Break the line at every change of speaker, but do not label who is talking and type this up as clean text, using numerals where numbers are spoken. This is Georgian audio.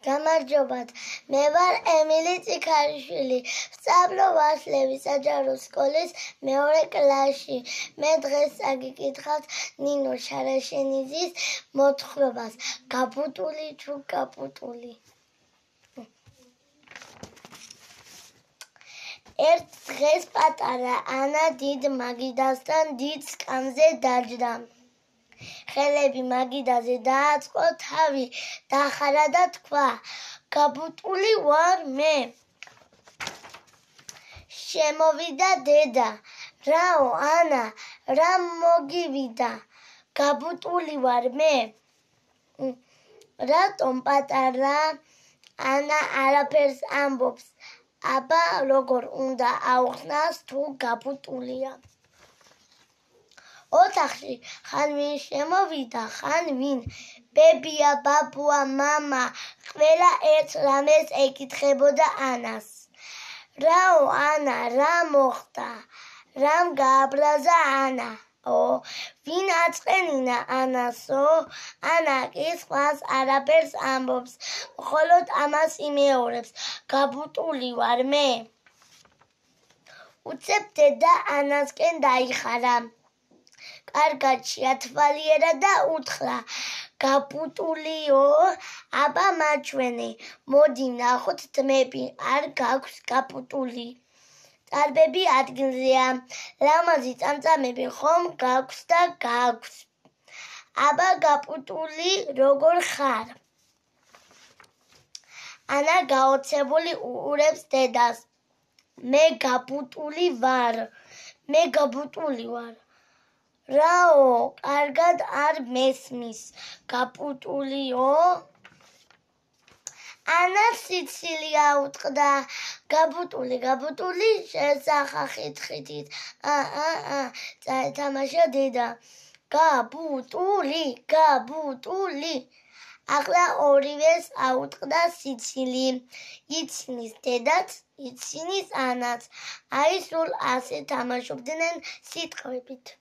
გამარჯობათ, მე ვარ ემილი წიქარიშვილი, ვსწავლობ ვაშლების საჯარო სკოლის მეორე კლასში. მე დღეს აგიკითხავთ ნინო შარაშენიძის მოთხრობას გაბუტული თუ გაბუტული. ერთ დღეს პატარა ანა დიდ მაგიდასთან დიდ სკამზე დაჯდა. ხელები მაგიდაზე დააწყო, თავი დახარა და თქვა: გაბუტული ვარ მე. შემოვიდა დედა: რაო ანა, რა მოგივიდა? გაბუტული ვარ მე. რატომ პატარა ანა არაფერს ამბობს? აბა როგორ უნდა აუხსნას თუ გაბუტულია? ოთახში ხან ვინ შემოვიდა, ხან ვინ? ბებია, ბაბუა, მამა, ყველა ერთ რამეს ეკითხებოდა ანას. რაო ანა, რა მოხდა? რამ გააბრაზა ანა? ვინ აწყენინა ანასო? ანა კი სხვას არაფერს ამბობს, მხოლოდ ამას იმეორებს: გაბუტული ვარ მე. უცებ დედა ანასკენ დაიხარა. კარგად შეათვალიერა და უთხრა: გაბუტულიო, აბა მაჩვენე, მოდი ვნახოთ ძმები, არ გაქვს გაბუტული. წარბები ადგილზეა, ლამაზი წამწამები ხომ გაქვს და გაქვს. აბა გაბუტული როგორ ხარ? ანა გაოცებული უყურებს დედას. მე გაბუტული ვარ. რაო, კარგად არ მესმის? გაბუტულიო? ანა სიცილია უტყდა. გაბუტული შესახა ხით-ხითით. წაეთამაშა დედა. გაბუტული. ახლა ორივეს აუტყდა სიცილი. ცინის დედაც, ცინის ანაც. აი სულ ასე თამაშობდნენ სიტყვებით.